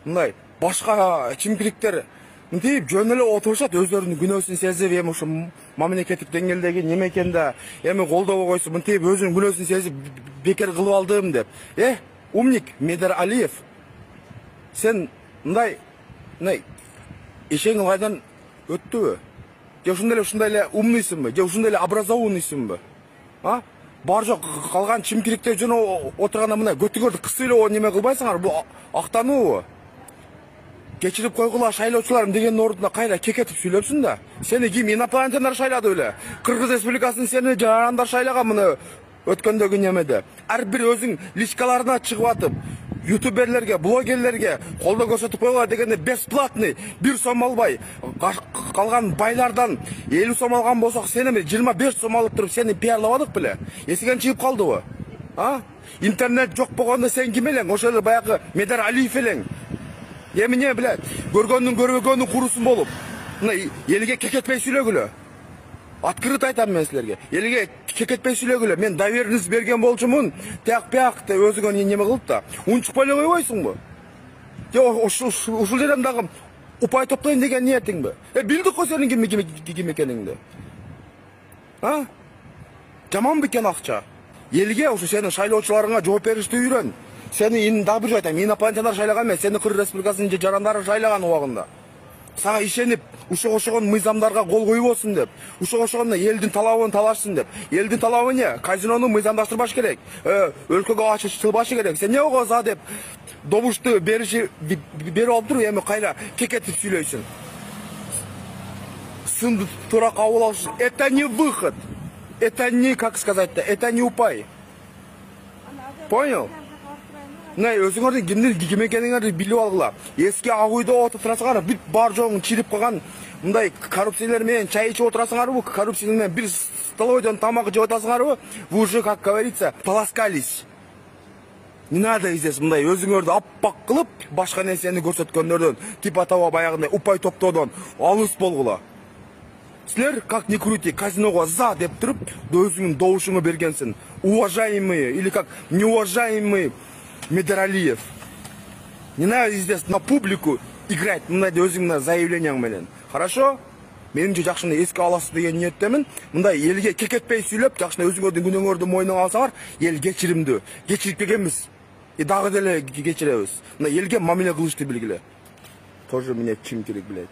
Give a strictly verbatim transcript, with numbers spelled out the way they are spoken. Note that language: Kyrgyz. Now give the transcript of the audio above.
мындай башка чимкириктер мынтип жөн эле отурушат, өздөрүнүн күнөөсүн сезип, эми ушу мамлекеттик деңгээлдеги неме экен да, эми колдобой койсо мынтип өзүнүн күнөөсүн сезип бекер кылып алдым деп. Э, умник Медералиев, сен мындай мындай ишең ылайдан өттүбү? Же ушундай эле ушундай эле умныйсыңбы? Же ушундай эле образованныйсыңбы? А? Бар жок калган чимкириктер жөн отурганда мындай көтүгөрдү кысып эле неме кылбайсыңар, бул актануубу? Кечирип койгула шайлоочуларым дегендин ордуна кайра кекетип сүйлөпсүң да. Сени ким инопланетяндар шайлады беле? Кыргыз Республикасынын сени жарандар шайлаган мына өткөндөгү немеде. Ар бир өзүң личкаларына чыгып атып, ютуберлерге, блогерлерге колдоо көрсөтүп койгула дегенде бесплатный бир сом албай, калган байлардан элүү сом алган болсок, сени жыйырма беш сом алып туруп сени пиарлабадык беле? Эсиңен чыгып калдыбы? А? Интернет жок болгондо сен ким элең? Ошол эле баягы Медералиев элең. Эми не билет, көргөндүн көрбөгөнүн курусун болуп, мына элге кекетпей сүйлөгүлө. Открыто айтам мен силерге. Элге кекетпей сүйлөгүлө. Мен доверенность берген болчумун, тияк-пияк деп өзүңө неме кылып да, унчукпай эле койбойсуңбу? Же ушул жерден дагы упай топтойм деген ниетиңби? Э, билдик го сенин ким ким экениңди. А? Жаман бекен акча. Элге ушу сенин шайлоочуларыңа жооп беришти үйрөн. Сени дагы бир айтам, инопланетяндар шайлаган эмес, сени Кыргыз Республикасынын жарандары шайлаган убагында. Сага ишенип, ушуга ошогон мыйзамдарга кол койбосун деп, ушуга ошогондо элдин талабын талашсын деп. Элдин талабы не? Казинону мыйзамдаштырбаш керек. Э, өлкөгө ачылбашы керек. Сен эмне за деп добушту бериши берип алып туруп, эми кайра кекетип сүйлөйсүң. Сынды туура кабыл алыш. Это не выход. Это не, как сказать-то, это не упай. Понял? Мына өзүңөрдүн кимдин ким экениңерди билип алгыла. Эски ак үйдө отуруп турасыңар, бүт бар жогун чирип калган мындай коррупциялар менен чай ичип отурасыңарбы? Коррупция менен бир столовойдон тамак жеп атасыңарбы? Вы уже, как говорится, полоскались. Не надо здесь мындай өзүңөрдү аппак кылып, башка нерсени көрсөткөндөрдөн, типа того баягындай упай топтоодон алыс болгула. Силер, как ни крути, казиного за деп туруп, өзүңүн добушуңу бергенсиң. Уважаемые или как неуважаемые Медералиев. Не надо здесь на публику играть, мындай өзүңүн заявлениең менен. Хорошо? Менимче жакшыны эске аласыз деген ниеттемин. Мындай элге кекетпей сүйлөп, жакшыны өзүңөрдүн күнөөңөрдү мойнуңа алсаңар, эл кечиримдүү. Кечирип келгенбиз. И дагы деле кечиребиз. Мына элге мамиле кылышты билгиле. Тоже мне чим керек, блядь.